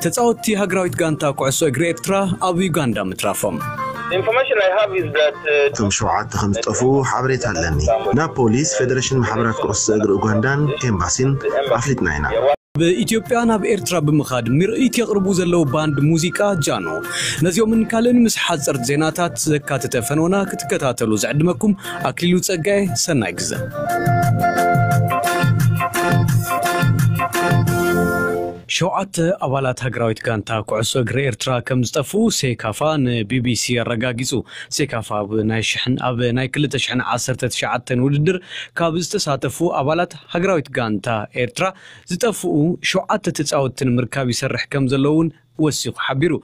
ተጻወትቲ ሃገራዊት ጋንታ ኩዕሶ እግሪ ኤርትራ ኣብ ዩጋንዳ ምትራፎም። እቶም ሸውዓተ ከም ዝጠፍኡ ሓበሬታ ኣለኒ። ናብ ፖሊስ፣ ፌደሬሽን ማሕበራት ኩዕሶ እግሪ ኡጋንዳን ኤምባሲን ኣፍሊጥና ኢና። ብኢትዮጵያ ናብ ኤርትራ ብምኻድ ምርኢት የቕርቡ ዘለዉ ባንድ ሙዚቃ ጃኖ፣ ነዚኦምን ካልእን ምስ ሓጸርት ዜናታት ዘካተተ ፈነወና ክትከታተሉ ዝዕድመኩም ኣክሊሉ ጸጋየ። ሰናይ ግዘ። ሸውዓተ ኣባላት ሃገራዊት ጋንታ ኩዕሶ እግሪ ኤርትራ ከም ዝጠፍኡ ሴካፋ ንቢቢሲ ኣረጋጊጹ። ሴካፋ ኣብ ናይ ሽሕን ኣብ ናይ ክልተ ሽሕን ዓሰርተ ትሽዓተን ውድድር ካብ ዝተሳተፉ ኣባላት ሃገራዊት ጋንታ ኤርትራ ዝጠፍኡ ሸውዓተ ተጻወትቲ ንምርካብ ይሰርሕ ከም ዘሎ እውን ወሲኹ ሓቢሩ።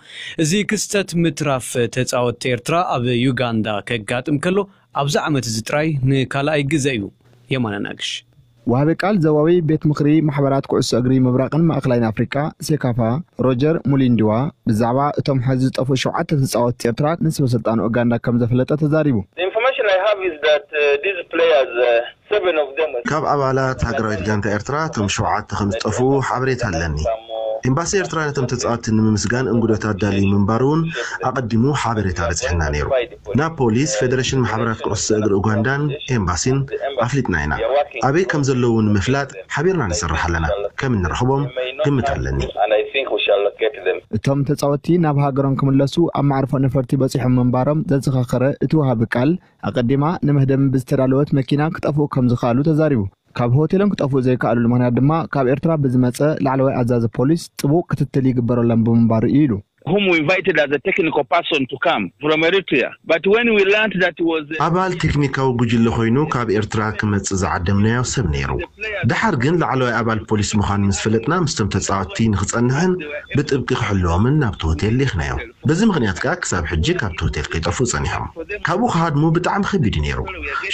እዚ ክስተት ምትራፍ ተጻወትቲ ኤርትራ ኣብ ዩጋንዳ ከጋጥም ከሎ ኣብዚ ዓመት እዚ ጥራይ ንካልኣይ ግዘ እዩ። የማነ ናግሽ። ወሃቢ ቃል ዘዋዊ ቤት ምኽሪ ማሕበራት ኩዕሶ እግሪ ምብራቕን ማእኸላይን ኣፍሪቃ ሴካፋ ሮጀር ሙሊንዲዋ ብዛዕባ እቶም ሐዚ ዝጠፍኡ ሸውዓተ ተጻወትቲ ኤርትራ ንሰበ ስልጣን ኡጋንዳ ከም ዘፍለጠ ተዛሪቡ። ካብ ኣባላት ሃገራዊት ጋንታ ኤርትራ እቶም ሸውዓተ ከም ዝጠፍኡ ሓበሬታ ኣለኒ። ኤምባሲ ኤርትራ ነቶም ተጻወትቲ ንምምስጋን እንግዶታት ዳልዩ ምንባሩ እውን ኣቐዲሙ ሓበሬታ በጺሕና ነይሩ። ናብ ፖሊስ፣ ፌደሬሽን ማሕበራት ኩዕሶ እግሪ ኡጋንዳን ኤምባሲን ኣፍሊጥና ኢና። ኣበይ ከም ዘለዉ ንምፍላጥ ሓቢርና ንሰርሕ ኣለና። ከም እንረኽቦም ግምት ኣለኒ። እቶም ተጻወትቲ ናብ ሃገሮም ክምለሱ ኣብ መዕርፎ ነፈርቲ በጺሖም ምንባሮም ዘዘኻኸረ እቲ ወሃቢ ቃል፣ ኣቐዲማ ንመህደሚ ብዝተዳለወት መኪና ክጠፍኡ ከም ዝኸኣሉ ተዛሪቡ። ካብ ሆቴሎም ክጠፍኡ ዘይከኣሉሉ ምኽንያት ድማ ካብ ኤርትራ ብዝመጸ ላዕለዋይ ኣዛዚ ፖሊስ ጥቡቕ ክትትል ይግበረሎም ብምንባሩ እዩ ኢሉ። whom we invited as a technical person to come from Eritrea. But when we learned that he was ኣባል ቴክኒካዊ ጉጅለ ኮይኑ ካብ ኤርትራ ክመጽእ ዝዓደምናዮ ሰብ ነይሩ። ደሓር ግን ላዕለዋይ ኣባል ፖሊስ ምዃኑ ምስ ፈለጥና ምስቶም ተጻወትቲ ንኽጸንሕን ብጥብቂ ክሕልዎምን ናብቲ ሆቴል ልኢኽናዮ። በዚ ምኽንያት ከኣ ክሳብ ሕጂ ካብቲ ሆቴል ከይጠፍኡ ጸኒሖም። ካብኡ ክሃድሙ ብጣዕሚ ከቢድ እዩ ነይሩ።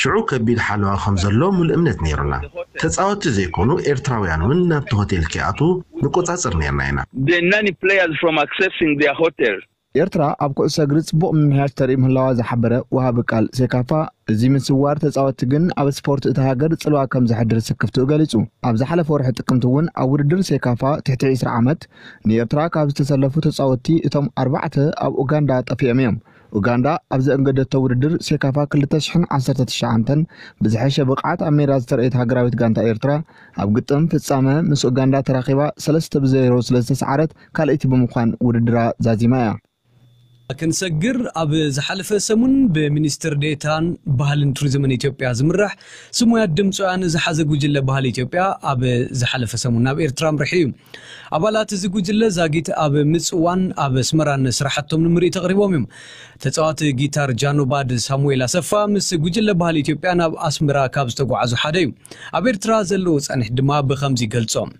ሽዑ ከቢድ ሓለዋ ከም ዘሎ ሙሉእ እምነት ነይሩና። ተጻወትቲ ዘይኮኑ ኤርትራውያን እውን ናብቲ ሆቴል ከይኣትዉ ንቆጻጸር ነይርና ኢና። the nanny players from accessing their hotel. ኤርትራ ኣብ ኩዕሶ እግሪ ጽቡቕ ምምሕያሽ ተርኢ ምህላዋ ዝሓበረ ወሃቢ ቃል ሴካፋ፣ እዚ ምስዋር ተጻወትቲ ግን ኣብ ስፖርት እታ ሃገር ጽልዋ ከም ዘሕድር ስክፍትኡ ገሊጹ። ኣብ ዝሓለፈ ወርሒ ጥቅምቲ እውን ኣብ ውድድር ሴካፋ ትሕቲ ዕስራ ዓመት ንኤርትራ ካብ ዝተሰለፉ ተጻወትቲ እቶም ኣርባዕተ ኣብ ኡጋንዳ ጠፊኦም እዮም። ኡጋንዳ ኣብ ዘእንገደቶ ውድድር ሴካፋ ክልተ ሽሕን ዓሰርተ ትሽዓተን ብዝሐሸ ብቕዓት ኣብ ሜዳ ዝተረእየት ሃገራዊት ጋንታ ኤርትራ ኣብ ግጥም ፍጻመ ምስ ኡጋንዳ ተራኺባ ሰለስተ ብዜሮ ስለ ዝተሰዓረት ካልኣይቲ ብምዃን ውድድራ ዛዚማ እያ። ክንሰግር ኣብ ዝሓለፈ ሰሙን ብሚኒስትር ዴታን ባህልን ቱሪዝምን ኢትዮጵያ ዝምራሕ ስሙያት ድምፃውያን ዝሓዘ ጉጅለ ባህሊ ኢትዮጵያ ኣብ ዝሓለፈ ሰሙን ናብ ኤርትራ ኣምሪሑ እዩ። ኣባላት እዚ ጉጅለ ዛጊት ኣብ ምፅዋን ኣብ ኣስመራን ስራሕቶም ንምርኢት ኣቕሪቦም እዮም። ተፃዋቲ ጊታር ጃኖ ባድ ሳሙኤል ኣሰፋ ምስ ጉጅለ ባህሊ ኢትዮጵያ ናብ ኣስመራ ካብ ዝተጓዓዙ ሓደ እዩ። ኣብ ኤርትራ ዘለዉ ፃንሒት ድማ ብኸምዚ ይገልጾም።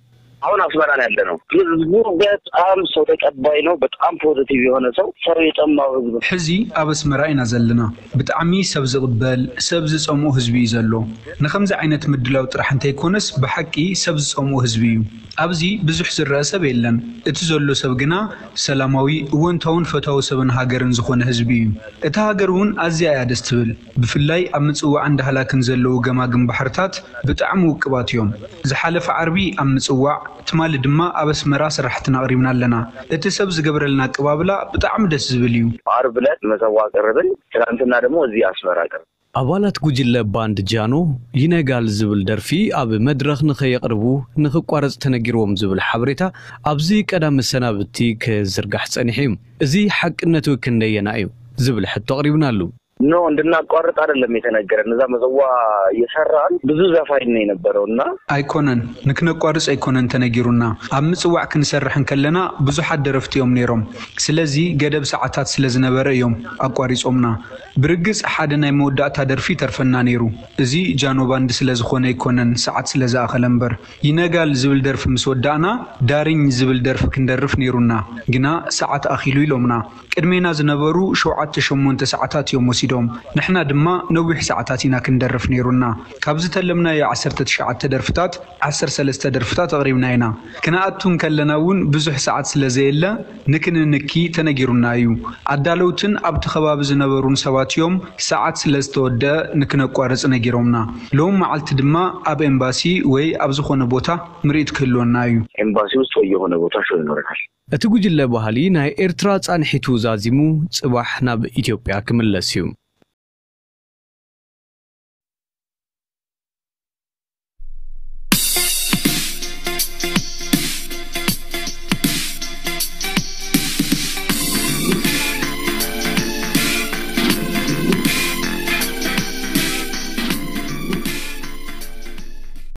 አሁን አስመራ ነው ያለነው። ህዝቡ በጣም ሰው ተቀባይ ነው። በጣም ፖዘቲቭ የሆነ ሰው፣ ሰው የጠማው ህዝብ። ሕዚ ኣብ ኣስመራ ኢና ዘለና። ብጣዕሚ ሰብ ዝቕበል፣ ሰብ ዝጸምኦ ህዝቢ እዩ ዘሎ። ንኸምዚ ዓይነት ምድላው ጥራሕ እንተይኮነስ ብሓቂ ሰብ ዝጸምኦ ህዝቢ እዩ። ኣብዚ ብዙሕ ዝረአ ሰብ የለን። እቲ ዘሎ ሰብ ግና ሰላማዊ፣ እወንታውን ፈታዊ ሰብን ሃገርን ዝኾነ ህዝቢ እዩ። እታ ሃገር እውን ኣዝያ እያ ደስ ትብል። ብፍላይ ኣብ ምጽዋዕን ዳህላክን ዘለዉ ገማግም ባሕርታት ብጣዕሚ ውቅባት እዮም። ዝሓለፈ ዓርቢ ኣብ ምጽዋዕ፣ ትማሊ ድማ ኣብ ኣስመራ ስራሕትና ኣቕሪብና ኣለና። እቲ ሰብ ዝገብረልና ኣቀባብላ ብጣዕሚ ደስ ዝብል እዩ። ዓርብ ዕለት መጸዋ ቀረብን፣ ትናንትና ደግሞ እዚህ አስመራ ቀረብ። ኣባላት ጉጅለ ባንድ ጃኖ ይነጋል ዝብል ደርፊ ኣብ መድረኽ ንኸየቕርቡ ንኽቋረጽ ተነጊርዎም ዝብል ሓበሬታ ኣብዚ ቀዳመ ሰናብቲ ክዝርጋሕ ጸኒሑ እዩ። እዚ ሓቅነቱ ክንደየና እዩ ዝብል ሕቶ ኣቕሪብናሉ። ኖ፣ እንድናቋርጥ አይደለም የተነገረን። እዛ መጸዋ እየሰራን ብዙ ዘፋኝ ነው የነበረው እና ኣይኮነን፣ ንክነቋርጽ ኣይኮነን ተነጊሩና። ኣብ ምጽዋዕ ክንሰርሕ እንከለና ብዙሓት ደረፍቲ እዮም ነይሮም። ስለዚ ገደብ ሰዓታት ስለ ዝነበረ እዮም ኣቋሪጾምና። ብርግጽ ሓደ ናይ መወዳእታ ደርፊ ተርፈና ነይሩ። እዚ ጃኖ ባንድ ስለ ዝኾነ ኣይኮነን፣ ሰዓት ስለ ዝኣኸለ እምበር። ይነጋል ዝብል ደርፊ ምስ ወዳእና ዳርኝ ዝብል ደርፊ ክንደርፍ ነይሩና። ግና ሰዓት ኣኺሉ ኢሎምና። ቅድሜና ዝነበሩ ሸውዓተ ሸሞንተ ሰዓታት እዮም ወሲዶም። ወሲዶም። ንሕና ድማ ነዊሕ ሰዓታት ኢና ክንደርፍ ነይሩና። ካብ ዝተለምናዮ ዓሰርተ ትሽዓተ ደርፍታት ዓሰርተ ሰለስተ ደርፍታት ኣቕሪብና ኢና። ክንኣቱ እንከለና እውን ብዙሕ ሰዓት ስለ ዘየለ ንክንንኪ ተነጊሩና እዩ። ኣዳለውትን ኣብቲ ከባቢ ዝነበሩን ሰባት እዮም ሰዓት ስለ ዝተወደአ ንክነቋርጽ ነጊሮምና። ሎም መዓልቲ ድማ ኣብ ኤምባሲ ወይ ኣብ ዝኾነ ቦታ ምርኢት ክህልወና እዩ። ኤምባሲ ውስጥ ወይ የሆነ ቦታ ሾው ይኖረናል። እቲ ጉጅለ ባህሊ ናይ ኤርትራ ጻንሒቱ ዛዚሙ ጽባሕ ናብ ኢትዮጵያ ክምለስ እዩ።